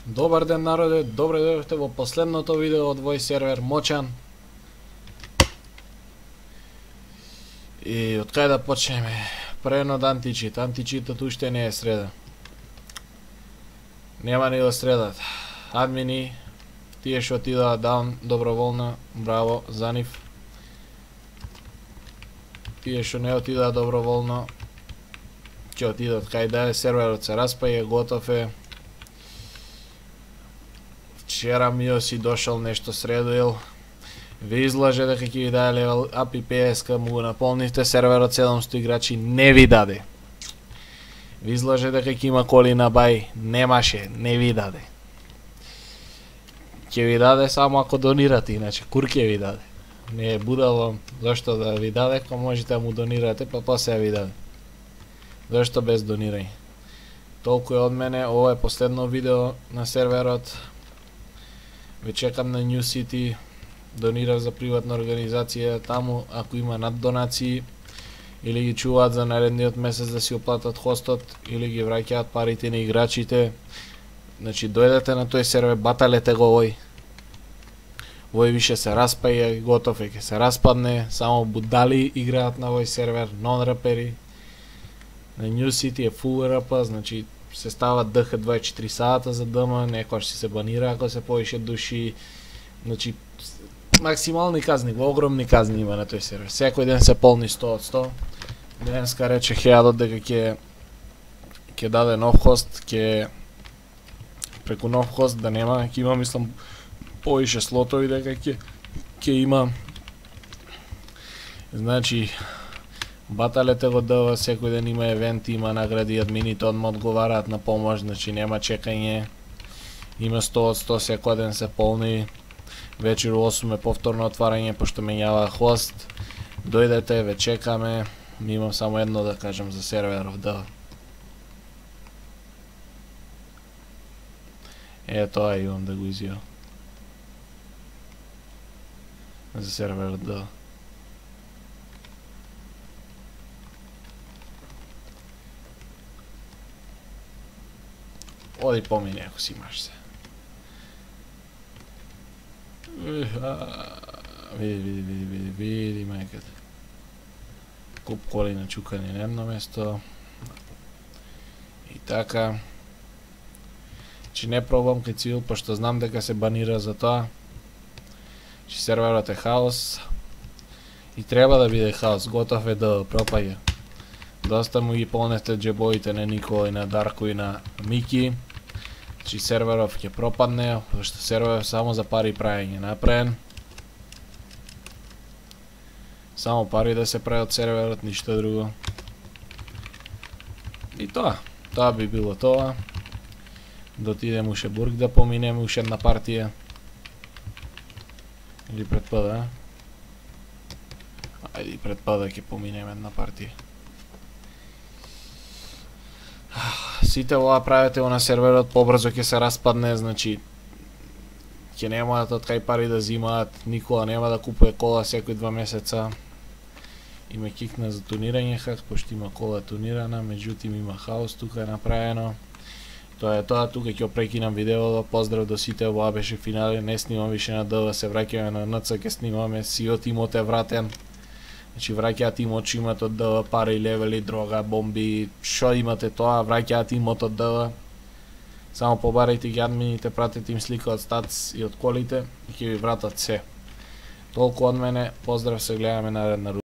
Добар ден, народе, добре дојдовте во последното видео од Voice сервер Мочан. И од кај да почнеме? Прено од античит. Античитот уште не е среда. Нема ни до средата. Админи, тие што отидаа даун доброволно, браво за нив. Тие што не отидаа доброволно, ќе отидат кај да е, серверот се распаја, готов е. Вчера Миоси дошол нешто средуил. Ви излаже дека ќе ви даде левел ап и PSK, му го наполнивте, серверот 700 играчи не ви даде. Ви излаже дека ќе има коли на бај, немаше, не ви даде. Ќе ви даде само ако донирате, иначе кур ќе ви даде. Не е будало зашто да ви даде, кога можете да му донирате, па после ви даде. Зашто без донирање? Толку е од мене, ова е последно видео на серверот. Ве чекам на New City, донирав за приватна организација таму, ако има над донации, или ги чуваат за наредниот месец да си оплатат хостот, или ги враќаат парите на играчите. Значи, дојдете на тој сервер, баталете го овој. Овој више се распаја, готов е, ќе се распадне, само будали играат на овој сервер, нон-рапери. На New City е full рп, значи, се става ДХ 24 сата за ДМ, некојаш си се банира ако се повише души. Значи, максимални казни, огромни казни има на тој сервер. Секој ден се полни 100 од 100. Денеска рече Хеадот дека ќе даде нов хост, ќе преку нов хост да нема, ќе има, мислам, повише слотови дека ќе има. Значи, баталете го ДВ, секој ден има евенти, има награди, админите одма одговараат на помош, значи нема чекање. Има 100 од 100, секој ден се полни. Вечер у 8 е повторно отварање, пошто менјава хост. Дојдете, ве чекаме. Ми имам само едно да кажам за серверов ДВ. Тоа имам да го изјавам. За серверот ДВ. Оди помини ако си имаш се. Види мајката. Куп коли начукани на едно место. И така. Че не пробам кај цивил, пошто знам дека се банира за тоа. Че серверот е хаос. И треба да биде хаос, готов е да пропаѓа. Доста му ги полнете джебоите на Никола и на Дарко и на Мики. Че серверов ќе пропадне, зашто серверов само за пари прајање направен. Само пари да се прави од серверот, ништо друго. И тоа би било тоа. Да отидем уште Бург да поминеме уште една партија. Или пред ПД, Ајде и пред ПД ќе поминеме една партија. Сите ова правите на серверот, побрзо ќе се распадне, значи ќе немаат од кај пари да зимаат, Никола нема да купува кола секој 2 месеца. И ме кикна за тунирање хак, пошто има кола тунирана, меѓутим има хаос тука е направено. Тоа е тоа, тука ќе прекинам видеото, поздрав до сите, ова беше финале, не снимам више на ДВ, се враќаме на НЦ, ќе снимаме, сиот имот е вратен. Значи враќаат имот, што имате од ДВ, пари, левели, дрога, бомби, што имате тоа, враќаат имот од ДВ. Само побарајте ги админите, пратете им слика од статс и од колите и ќе ви вратат се. Толку од мене, поздрав, се гледаме наредна